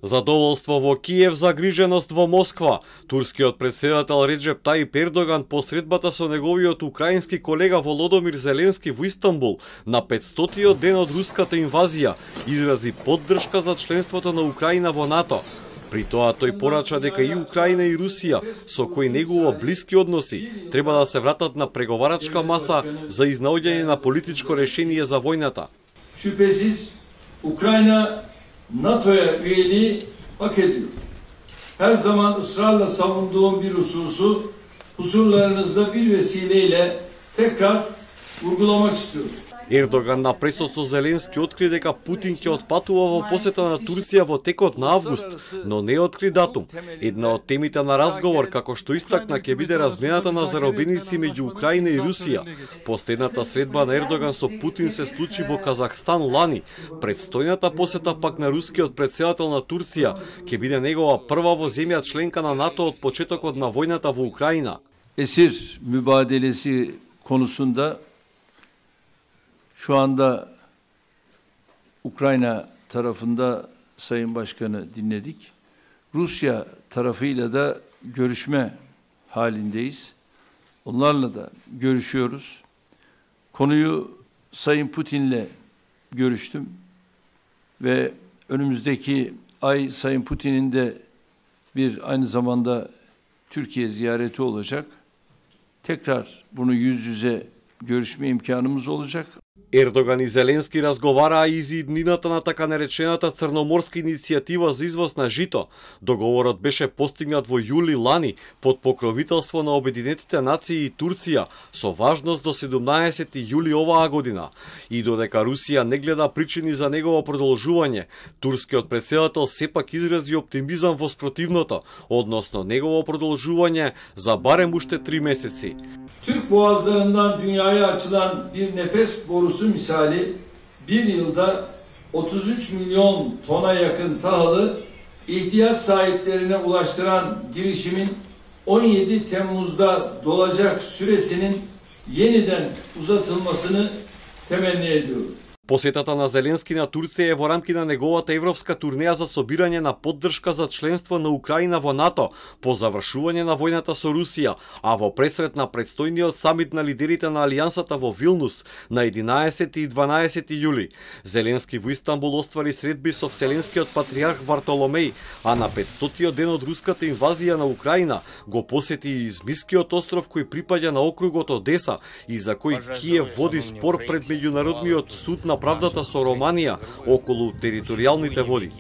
Задоволство во Киев, загриженост во Москва. Турскиот председател Реджеп Таип Ердоган по средбата со неговиот украински колега Володомир Зеленски во Истанбул на 500-тиот ден од руската инвазија изрази поддршка за членството на Украина во НАТО. При тоа тој порача дека и Украина и Русија, со кои негува блиски односи, треба да се вратат на преговарачка маса за изнаоѓање на политичко решение за војната. Şüphesiz Ukrayna NATO'ya üyeliği hak ediyor. Her zaman ısrarla savunduğum bir hususu huzurlarınızda bir vesileyle tekrar vurgulamak istiyorum. Ердоган на пресот со Зеленски откри дека Путин ќе отпатува во посета на Турција во текот на август, но не откри датум. Една од темите на разговор, како што истакна, ќе биде размената на заробеници меѓу Украина и Русија. Последната средба на Ердоган со Путин се случи во Казахстан лани. Предстојната посета пак на рускиот председател на Турција ќе биде негова прва во земја членка на НАТО од почетокот на војната во Украина. Esir mübadelesi konusunda şu anda Ukrayna tarafında Sayın Başkanı dinledik. Rusya tarafıyla da görüşme halindeyiz. Onlarla da görüşüyoruz. Konuyu Sayın Putin'le görüştüm ve önümüzdeki ay Sayın Putin'in de aynı zamanda Türkiye ziyareti olacak. Tekrar bunu yüz yüze görüşme imkanımız olacak. Ердоган и Зеленски разговараа и за иднината на така наречената црноморска иницијатива за извоз на жито. Договорот беше постигнат во јули лани под покровителство на Обединетите нации и Турција со важност до 17 јули оваа година. И додека Русија не гледа причини за негово продолжување, турскиот председател сепак изрази оптимизам во спротивното, односно негово продолжување за барем уште 3 месеци. Türk boğazlarından dünyaya açılan bir nefes borusu misali bir yılda 33 milyon tona yakın tahılı ihtiyaç sahiplerine ulaştıran girişimin 17 Temmuz'da dolacak süresinin yeniden uzatılmasını temenni ediyorum. Посетата на Зеленски на Турција е во рамки на неговата европска турнеја за собирање на поддршка за членство на Украина во НАТО по завршување на војната со Русија, а во пресрет на предстојниот самит на лидерите на Алијансата во Вилнус на 11 и 12 јули. Зеленски во Истанбул оствари средби со Вселенскиот патриарх Вартоломеј, а на 500-тиот ден од руската инвазија на Украина го посети и Измискиот остров кој припаѓа на округот Одеса и за кој Киев води спор пред меѓународниот суд на правдата со Романија околу територијалните води.